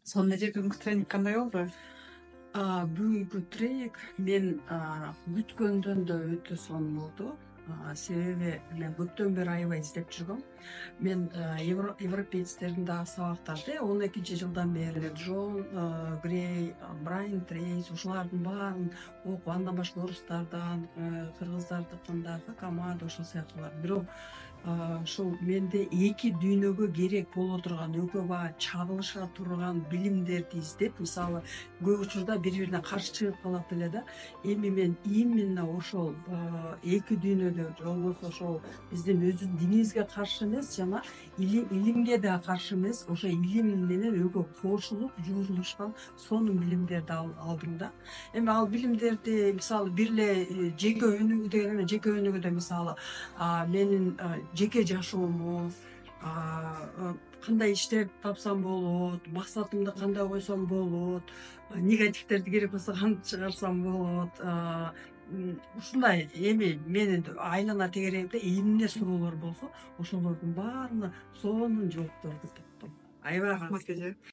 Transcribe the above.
Сонун эле бүгүнкү тренинг кандай болду? Бүгүнкү тренинг мен күткөндөн да өтө сонун болду. Себеби мен көптөн бери аябай издеп жүргөм. Мен европейцтердин дагы сабактарды 12 жылдан бери Джон Грей, Брайан Трейс ушулардын баарын окуп, андан башка орустардан, кыргыздардыкын дагы, Камада ошол сыяктуулар. Бирок ушул менде эки дүйнөгө керек боло турган экөө баа чагылыша турган билимдерди издеп, мисалы көп учурда бири бирине каршы чыгып калат эле да. Эми мен именно ошол эки дүйнөдө же болбосо ошол биздин өзүбүздүн динибизге каршы эмес, жана илимге да каршы эмес, ошо илим менен экөө кошулуп жуурулушкан сонун билимдерди алдым да. Эми ал билимдерди мисалы бир эле жеке өнүгүү деген эмес, жеке өнүгүүдө мисалы менин жеке жашоомду, кандай иштерди тапсам болот, максатымды кандай койсом болот, негативдерди керек болсо кантип чыгарсам болот, ушундай эми менин айлана тегерегимде эмне суроолор болсо ошолордун баарына сонун жоопторду таптым. Аябай Рахмат эже.